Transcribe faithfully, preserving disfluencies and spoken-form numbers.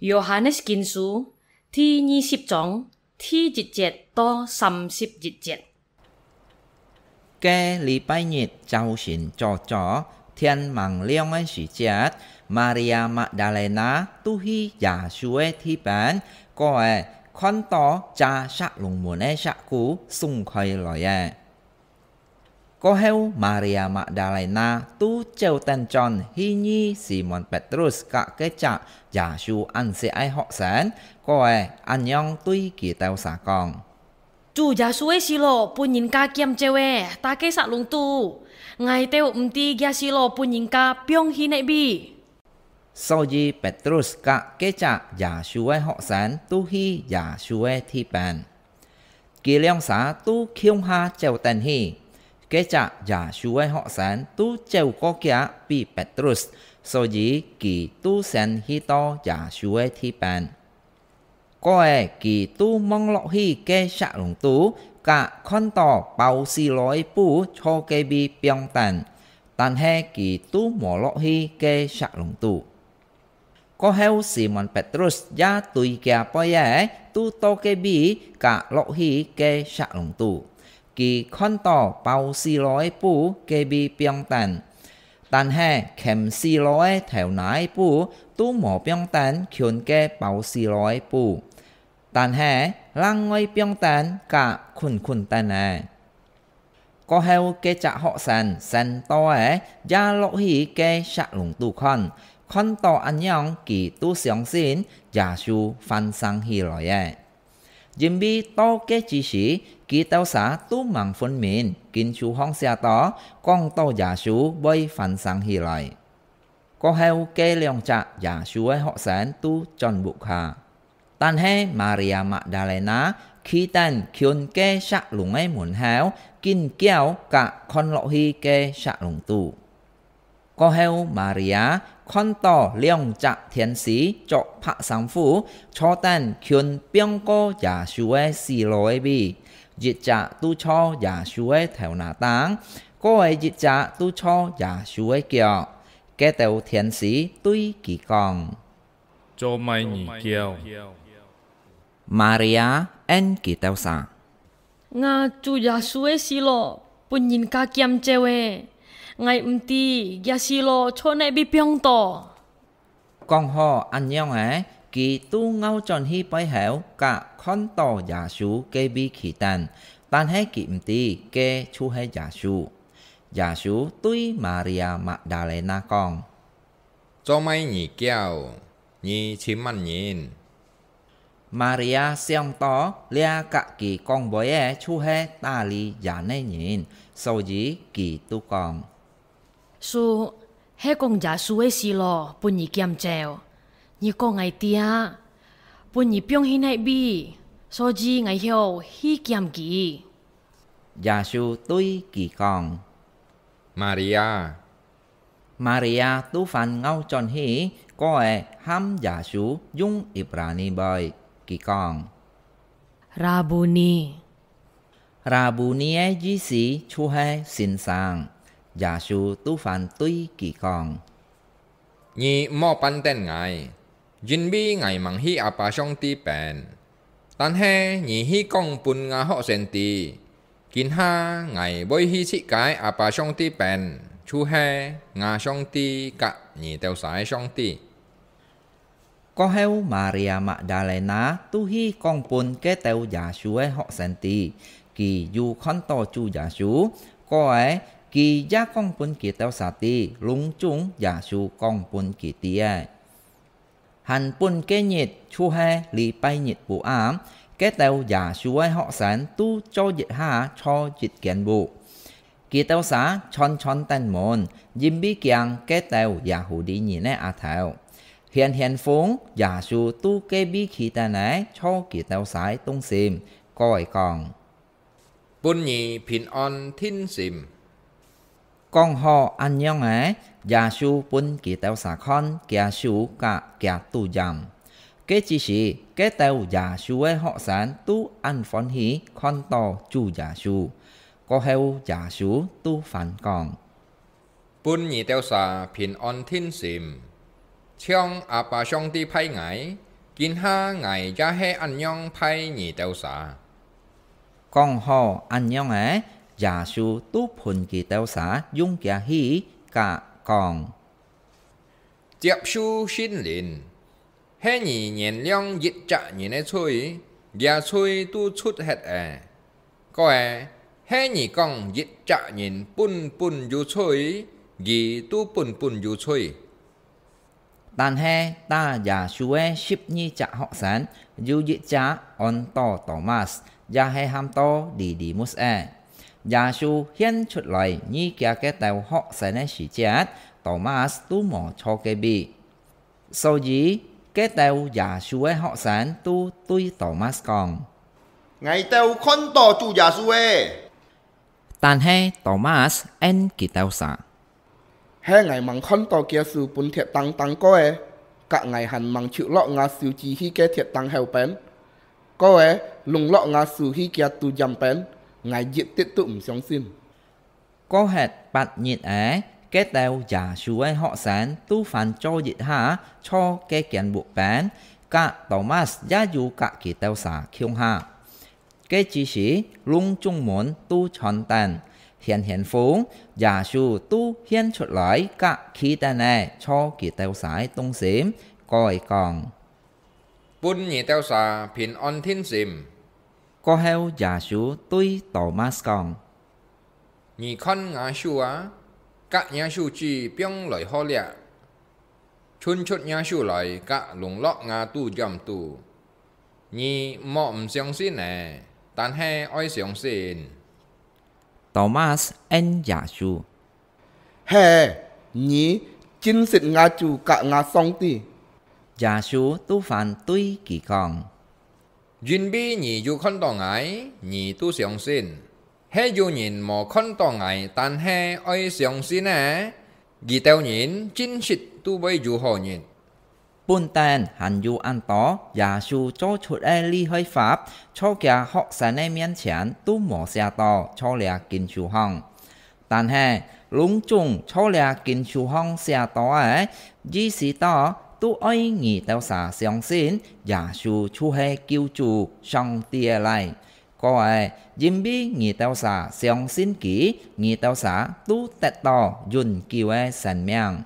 Yohanes Kinsu第二十章第一節到三十一節。該禮拜日朝晨早早，天吂亮个時節，Maria Magdalena就去耶穌个地邊，過仔看到遮石龍門个石牯鬆開來仔。 過後，Maria Magdalena就走等轉去遇Simon Petrus佮該隻耶穌恁惜个學生，過仔恁樣對佢兜儕講：「主耶穌个死路分人家撿走仔，在該石龍肚，𠊎兜毋知厥死路分人家放去哪位。」 所以Petrus佮該隻耶穌个學生就去耶穌个地邊。佢兩儕就共下走等去。該隻耶穌个學生就走過遽比Petrus，所以佢就先去到耶穌个地邊。 過仔佢就望落去該石龍肚，甲看到包死路个布在該位放等，但係佢就無落去該石龍肚。過後Simon Petrus也對厥背仔，就到該位甲落去該石龍肚。佢看到包死路个布該位放等， 但係掔死路个頭那个布都無放等近該包死路个布，但係另外放等甲近近等仔。過後該隻學生先到仔，也落去該石龍肚看，看到恁樣，佢都相信耶穌還生起來仔。 因為到該之時，佢兜儕都吂分明，經書項寫到，講到耶穌會還生起來。過後該兩隻耶穌个學生都轉屋下，但係Maria Magdalena企等近該石龍个門口，緊噭甲看落去該石龍肚。 過後，Maria看到兩隻天使著白衫褲，坐等近放過耶穌个死路个位，一隻就坐耶穌个頭那頂，過仔一隻就坐耶穌个腳。該兜天使對佢講：「做麼你噭？」Maria應佢兜儕： 吾主耶穌个死路分人家撿走仔，𠊎毋知厥死路在哪位放到。講好恁樣仔，佢都拗轉去背後，甲看到耶穌該位企等，但係佢毋知該就係耶穌。耶穌對Maria Magdalena講： 「做麼你噭？你尋麼人？」Maria想到這甲佢講話个就係大利人个人，所以佢就講：「主，係講耶穌个死路分你撿走，你講𠊎知，分你放去哪位，所以𠊎曉去撿佢。」耶穌對佢講：「Maria！」Maria就還拗轉去，過仔喊耶穌用Ibrani話，佢講：「Rabuni！」Rabuni个意思就係先生。耶穌就還對佢講：「你毋好絆等𠊎，因為𠊎吂去阿爸上帝邊。但係你去講分吾學生知，今下𠊎會去自家阿爸上帝邊，就係吾上帝甲你兜儕个上帝。」過後，Maria Magdalena就去講分該兜耶穌个學生知，佢有看到主耶穌。過仔，佢也講分佢兜儕知，攏總耶穌講分佢知个。 還分該日，就係禮拜日晡暗，該兜耶穌个學生都做一下在一間屋。佢兜儕全全等門，因為驚該兜Yahudi人个額頭。顯顯風，耶穌就該位企等仔，在佢兜儕中心，過仔講： 「分你平安定心！」講好恁樣仔，耶穌分佢兜儕看厥手甲厥肚胭。該之時，該兜耶穌个學生都恁歡喜看到主耶穌。過後耶穌就還講： 「分你兜儕平安定心！像阿爸上帝派𠊎，今下𠊎也係恁樣拜你兜儕。」講好恁樣仔，耶穌都分佢兜儕用厥耳格講：「接受聖靈。係你原諒一隻人个罪，厥罪都除忒咧。過仔，係你講一隻人本本有罪，佢都本本有罪。」 但係打耶穌个十二隻學生，有一隻安到多馬斯，也係喊到利利木斯仔。耶穌現出來遇厥个兜學生个時節，多馬斯都無坐該位。所以，該兜耶穌个學生都對多馬斯講：「𠊎兜看到主耶穌咧！」 但係多馬斯應佢兜儕：「係𠊎吂看到厥手分鐵釘釘過仔，甲𠊎還吂手落吾手指去該鐵釘後背，過仔攏落吾手去厥肚尖背，𠊎一滴都毋相信。」過忒八日仔，該兜耶穌个學生都還做一下坐該間屋背，甲多馬斯也有甲佢兜儕共下。 該之時，攏總門都傳等，掀掀風，耶穌都現出來甲企等仔坐佢兜儕个中心，過仔講：「分你兜儕平安定心。」過後耶穌對多馬斯講：「你看吾手啊，甲若手指放來好了，伸出若手來甲攏落吾肚尖肚。 你莫毋相信咧，但係愛相信。」多馬斯應耶穌：「係，你正識吾主甲吾上帝。」耶穌都還對佢講：「因為你有看到𠊎，你都相信。係有人無看到𠊎，但係愛相信咧，佢兜人正識都會有好日。」 本等還有恁多耶穌做出个厲害法，在厥學生个面前都無寫到在這經書項。但係，攏總在這經書項寫到个，意思到都愛你兜儕相信耶穌就係救主，上帝个倈。 過仔，因為你兜儕相信佢，你兜儕都得到永久个生命。